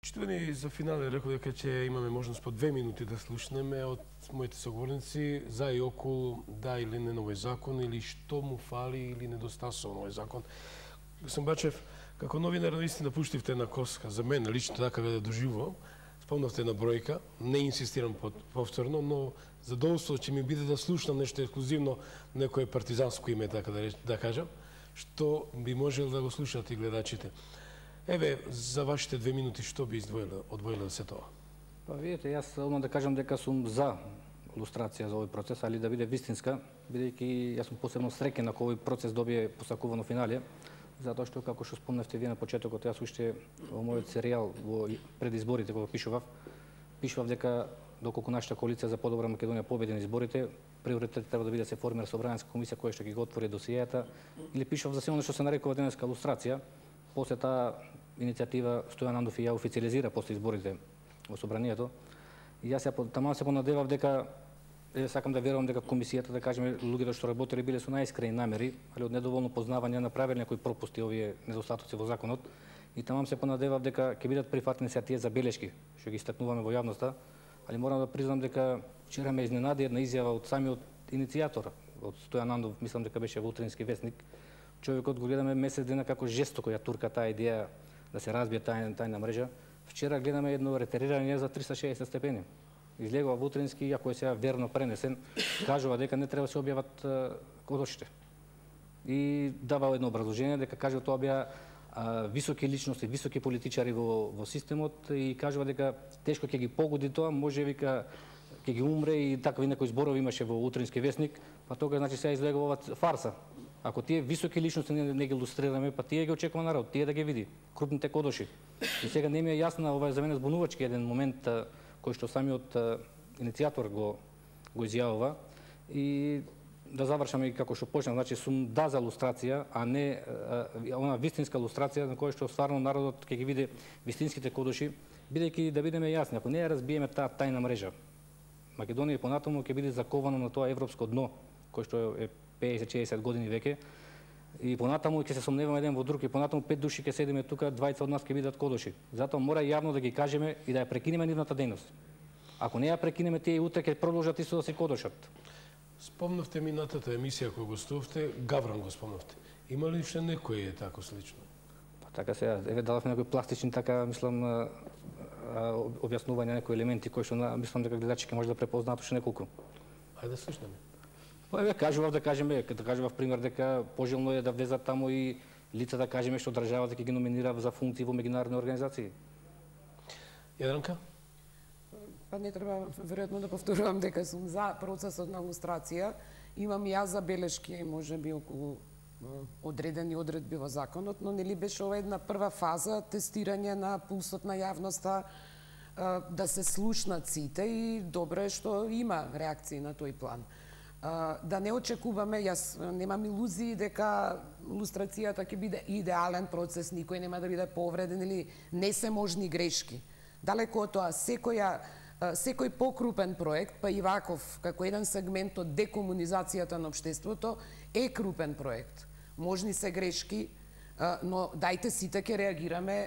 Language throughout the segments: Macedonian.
Почитувани, за финале рекол дека ќе имаме можност по 2 минути да слушнеме од моите соговорници за и околу да или не на овој закон, или што му фали или недостасува на овој закон. Господин Бачев, како новинар наистина пуштивте една коска, за мен лично така да доживувам, спомнавте на бројка, не инсистирам повторно, но задоволство ќе ми биде да слушнам нешто ексклузивно, некое партизанско име, така да кажам, што би можел да го слушат и гледачите. Еве, за вашите 2 минути, што би одвоиле се тоа? Па видите, јас одма да кажам дека сум за лустрација за овој процес, али да биде вистинска, бидејќи јас сум посебно среќен ако овој процес добие посакувано финале, затоа што, како што спомнавте вие на почетокот, јас уште во мојот серијал во пред изборите кога пишував дека доколку нашата коалиција за подобра Македонија победи на изборите, приоритет треба да биде да се формира собранска комисија која што ќе го отвори досиејата, или пишував за се она што се нарекува денеска лустрација. После таа иницијатива Стојан Андов и ја официализира после изборите во собранието. И јас таман се понадевав дека сакам да верувам дека комисијата, да кажеме, луѓето што работеле биле со најискрени намери, али од недоволно познавање направиле некои пропусти овие недостатоци во законот. И таман се понадевав дека ќе бидат прифатени се тие забелешки што ги истакнуваме во јавноста, али морам да признам дека вчера ме изненади една изјава од самиот иницијатор, од Стојан Андов, мислам дека беше во Утрински весник. Човекот го гледаме месец дена како жестоко ја турка таа идеја да се разбие тајна мрежа. Вчера гледаме едно ретерирање за 360 степени. Излегува во Утрински, иако е сега верно пренесен, кажува дека не треба да се објават кодошите. И дава едно образложение дека кажува тоа беа високи личности, високи политичари во системот и кажува дека тешко ќе ги погоди тоа, може вика ќе ги умре и такви некои зборови имаше во Утрински весник, па тога значи сега излегува фарса. Ако тие високи личности не ги илустрираме, па тие ги очекува народ, тие да ги види, крупните кодоши. И сега не ми е јасна, ова е за мене збунувачки еден момент кој што самиот иницијатор го изјавува. И да завршаме и како што почнав, значи сум да за лустрација, а не она вистинска лустрација на која што стварно народот ќе ги види вистинските кодоши, бидејќи да бидеме јасни, ако не ја разбиеме таа тајна мрежа, Македонија понатаму ќе биде закована на тоа европско дно, кој што е 50-60 години веќе, и понатаму ќе се сомневаме еден во друг, и понатаму 5 души ќе седиме тука, 20 од нас ќе бидат кодоши. Затоа мора јавно да ги кажеме и да ја прекинеме нивната дејност. Ако не ја прекинеме, тие и утре ќе продолжат исто да се кодошат. Спомнавте минатата емисија која гостувавте, Гавран го спомнавте. Има ли уште некој тако слично? Па така сега, еве дадовме некои пластични така, мислам, објаснување некои елементи кои што мислам дека гледачите може да препознаат уште неколку. Ајде да слушнеме. Па еве кажував да кажував пример дека пожелно е да влезат таму и лица, да кажеме, што државата ќе ги номинира за функции во меѓународни организации. Јадранка? Па не треба веројатно да повторувам дека сум за процесот на лустрација. Имам и јас забелешки, можеби околу одредени одредби во законот, но нели беше ова една прва фаза, тестирање на пулсот на јавноста, да се слушнат сите и добро е што има реакции на тој план. Да не очекуваме, јас немам илузии дека лустрацијата ќе биде идеален процес, никој нема да биде повреден или не се можни грешки. Далеко од тоа, секој покрупен проект, па и ваков, како еден сегмент од декомунизацијата на општеството, е крупен проект. Можни се грешки, но дајте сите ќе реагираме,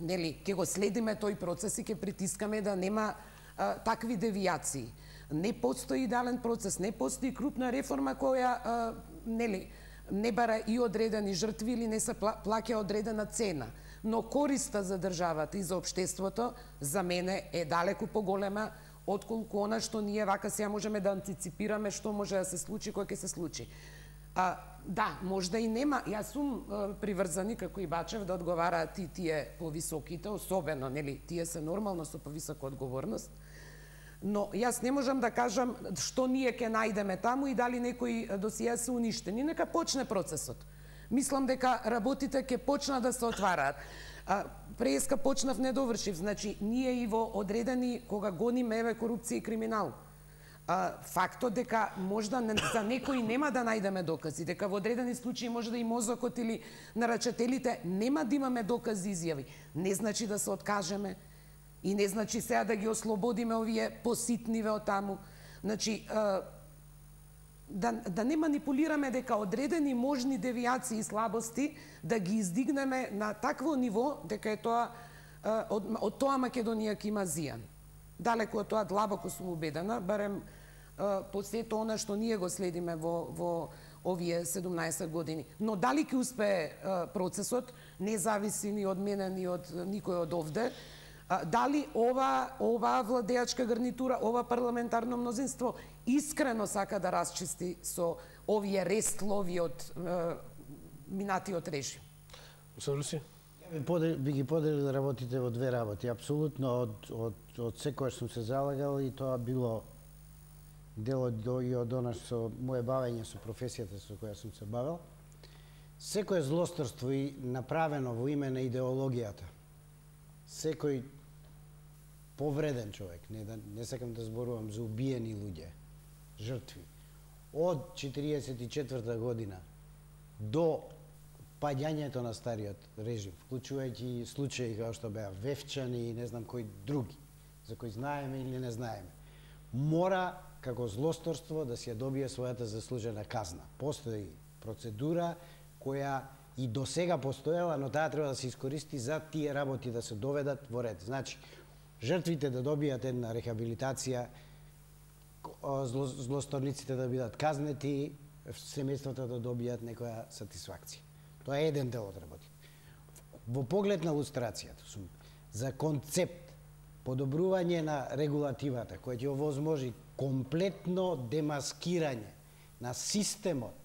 нели, ќе го следиме тој процес и ќе притискаме да нема такви девијации. Не постои идеален процес, не постои крупна реформа која нели не бара и одредени жртви или не се плаќа одредена цена, но користа за државата и за општеството за мене е далеку поголема отколку она што ние вака сега можеме да антиципираме што може да се случи кога ќе се случи. Да, можда и нема, јас сум приврзани како и Бачев да одговараат и тие повисоките, особено нели тие се нормално со повисока одговорност. Но јас не можам да кажам што ние ќе најдеме таму и дали некои досија се уништени. Нека почне процесот. Мислам дека работите ќе почнат да се отвараат. Преска почнав, не довршив. Значи, ние и во одредени, кога гониме еве корупција и криминал, фактот дека можда за некои нема да најдеме докази, дека во одредени случаи може да и мозокот или нарачателите нема да имаме докази и изјави, не значи да се откажеме. И не значи сега да ги ослободиме овие поситниве од таму. Значи, да не манипулираме дека одредени можни девијации и слабости да ги издигнеме на такво ниво дека е тоа од тоа Македонија ќе има зијан. Далеку од тоа, длабоко сум убедена, барем по сето она што ние го следиме во овие 17 години. Но дали ќе успее процесот, не зависи ни од мене, ни од никој од овде. Дали ова владеачка гарнитура, ова парламентарно мнозинство искрено сака да расчисти со овие рестлови од минатиот режим? Руси? Би ги поделил работите во две работи. Апсолутно од секојаш сум се залагал и тоа било дел од она со моje бавење со професијата со која сум се бавел. Секое злосторство и направено во име на идеологијата, секој повреден човек, не сакам да зборувам за убиени луѓе, жртви, од 44 година до паѓањето на стариот режим, вклучувајќи случаи како што беа Вевчани и не знам кои други, за кои знаеме или не знаеме, мора како злосторство да си ја добие својата заслужена казна. Постои процедура која и до сега постоела, но таа треба да се искористи за тие работи да се доведат во ред. Значи, жртвите да добијат една рехабилитација, злосторниците да бидат казнети, семејствата да добијат некоја сатисфакција. Тоа е еден дел од работи. Во поглед на лустрацијата сум за концепт подобрување на регулативата која ќе овозможи комплетно демаскирање на системот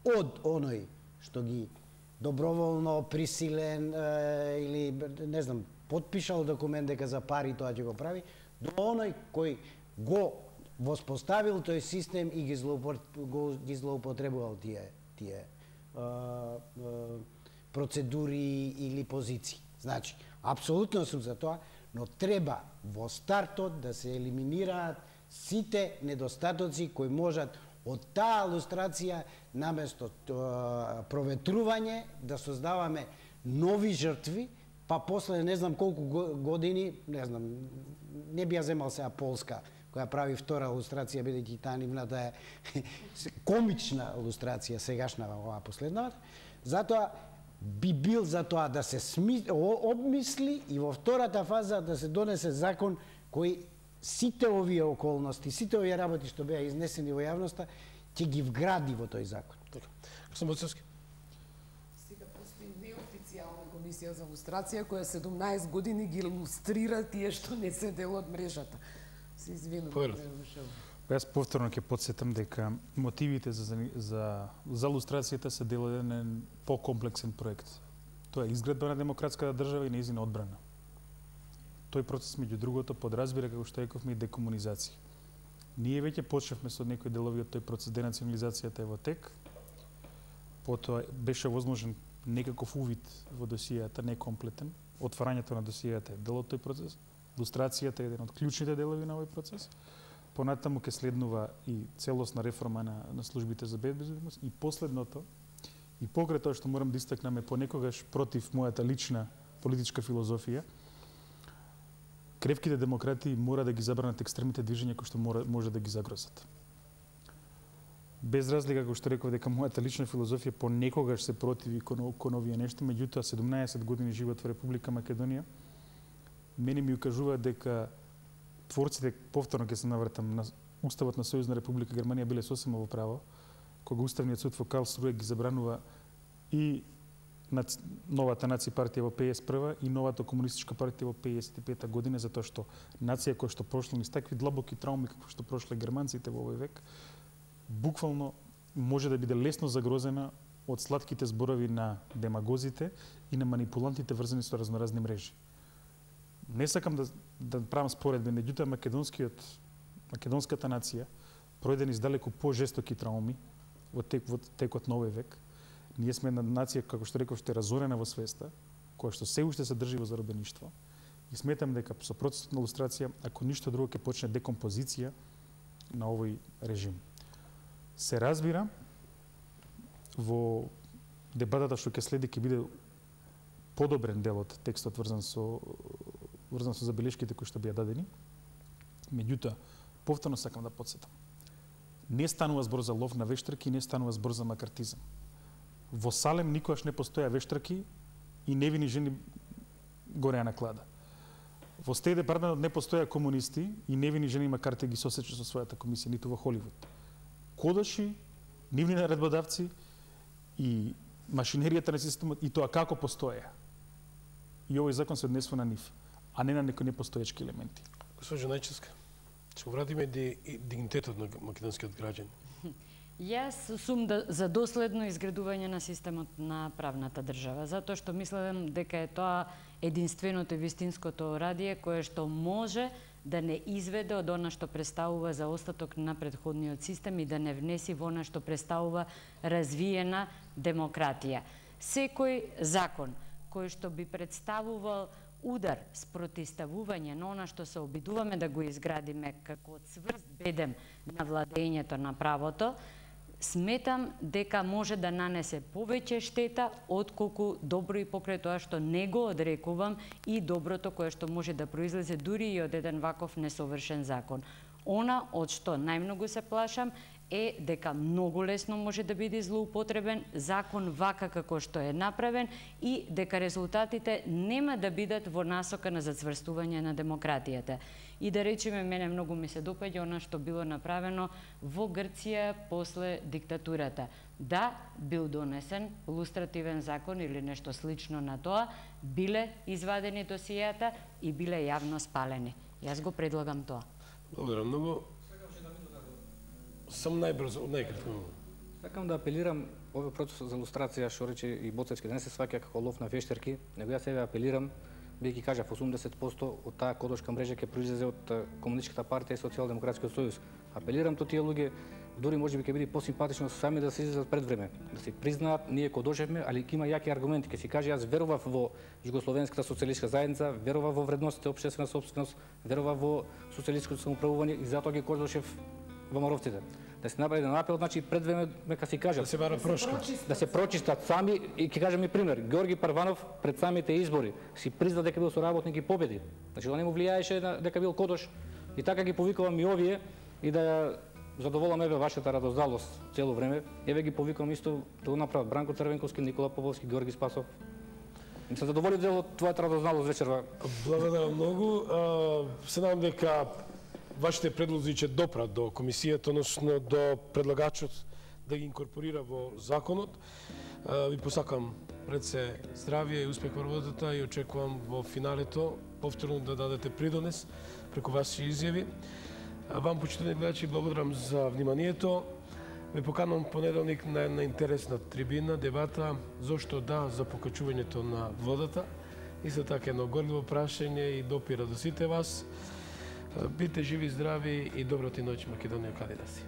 од оној што ги доброволно присилен или не знам потпишал документ дека за пари тоа ќе го прави, до оној кој го воспоставил тој систем и ги злоупотребувал тие процедури или позиции. Значи, апсолутно сум за тоа, но треба во стартот да се елиминираат сите недостатоци кои можат од таа лустрација наместо проветрување да создаваме нови жртви, па после не знам колку години, не знам, не би ја земал сега Полска, која прави втора лустрација, бидејќи таа нивната е комична лустрација, сегашна оваа последната. Затоа би бил за тоа да се обмисли и во втората фаза да се донесе закон кој сите овие околности, сите овие работи што беа изнесени во јавноста, ќе ги вгради во тој закон. Така. Господин Боцевски. Сега постои неофицијална комисија за лустрација која 17 години ги лустрира тие што не се дел од мрежата. Се извинувам. Јас повторно ќе потсетам дека мотивите за лустрацијата се дел од еден покомплексен проект. Тоа е изградба на демократската држава и нејзина одбрана. Тој процес, меѓу другото, подразбира, како што рековме, и декомунизација. Ние веќе почнавме со некои делови од тој процес, денационализацијата е во тек, потоа беше возможен некаков увид во досијата, некомплетен, отварањето на досијата е дел од тој процес, лустрацијата е еден од клучните делови на овој процес, понатаму ќе следнува и целосна реформа на службите за безбедност и последното, и покрај тоа што морам да истакнам е понекогаш против мојата лична политичка филозофија, кревките демократи мора да ги забранат екстремните движења кои што може да ги загрозат. Без разлика, како што реков, дека мојата лична филозофија понекогаш се противи кон овие нешта, меѓутоа 17 години живот во Република Македонија, мене ми укажува дека творците, повторно ќе се навратам, на Уставот на Сојузна Република Германија биле сосема во право, кога Уставниот суд во Карлсруе ги забранува и новата нација партија во 51 и новата комунистичка партија во 55 година, затоа што нација која што прошла низ такви длабоки трауми како што прошле германците во овој век, буквално може да биде лесно загрозена од сладките зборови на демагозите и на манипулантите врзани со разноразни мрежи. Не сакам да правам споредби, меѓутоа македонската нација пројде низ далеку по-жестоки трауми во текот на овој век. Ние сме една нација, како што реков, што е разорена во свеста, која што се уште се држи во заробеништво. И сметам дека со процесот на лустрација, ако ништо друго, ќе почне декомпозиција на овој режим. Се разбира, во дебатата што ќе следи ќе биде подобрен дел од текстот врзан со забелешките кои што беа дадени. Меѓутоа, повторно сакам да потсетам. Не станува збор за лов на вештраки, не станува збор за макартизам. Во Салем никогаш не постоја вештраки и невини жени гореа на клада. Во Стејт департаментот не постоја комунисти и невини жени макар те ги сосече со својата комисија, ниту во Холивуд. Кодаши, нивни наредбодавци и машинеријата на системот и тоа како постоја. И овој закон се однесува на нив, а не на некои непостоечки елементи. Госпожа Најчевска, ќе го вратиме дигнитетот на македонскиот граѓан. Јас сум за доследно изградување на системот на правната држава, затоа што мислам дека е тоа единственото и вистинското радие кое што може да не изведе од она што представува за остаток на претходниот систем и да не внеси во она што представува развиена демократија. Секој закон кој што би представувал удар, спротивставување на она што се обидуваме да го изградиме како цврст бедем на владењето на правото, сметам дека може да нанесе повеќе штета отколку добро и покрај тоа што не го одрекувам и доброто кое што може да произлезе дури и од еден ваков несовршен закон. Она од што најмногу се плашам е дека многу лесно може да биде злоупотребен закон вака како што е направен и дека резултатите нема да бидат во насока на зацврстување на демократијата. И да речеме, мене многу ми се допаѓа она што било направено во Грција после диктатурата. Да, бил донесен лустративен закон или нешто слично на тоа, биле извадени досијата и биле јавно спалени. Јас го предлагам тоа. Благодарам многу. Сам најбрзо, најкратко. Сакам да апелирам овој процес за лустрација што рече и Боцевски, да не се сваќа како лов на вештарки, него јас себе апелирам, бидејќи кажав 80% од таа кодошка мрежа ќе произлезе од Комунистичката партија и Социјалдемократскиот сојуз. Апелирам до тие луѓе, дури можеби ќе биде посимпатично сами да се излезат пред време, да се признаат ние кодошевме, али ќе има јаки аргументи, ќе си каже јас верував во Југословенската социјалистичка заедница, верував во вредностите општествена собственост, верував во социјалистичкото самоуправување и затоа ги кодошев во Маровците. Да се направи еден апел, значи пред време нека си кажат. Да се бара прошка. Да се прочистат сами и ќе кажам и пример. Георги Парванов пред самите избори си призна дека бил соработник и победи. Значи тоа не му влијаеше дека бил кодош. И така ги повикувам и овие и да задоволам еве вашата радоздалост цело време. Еве ги повикувам исто да го направат Бранко Црвенковски, Никола Поповски, Георги Спасов. Ми се задоволи дело твојата радоздалост вечерва. Благодарам многу. Се надам дека вашите предлози ќе допрат до комисијата, односно до предлагачот да ги инкорпорира во законот. Ви посакам пред се здравје и успех во работата и очекувам во финалето повторно да дадете придонес преку ваши изјави. Вам, почитувани гледачи, благодарам за вниманието. Ве поканувам понеделник на една интересна трибина, дебата зошто да за покачувањето на водата. Исто така едно горливо прашање и допира до сите вас. Бите живи, здрави и добра ти ноќ, Македонија, каде да си.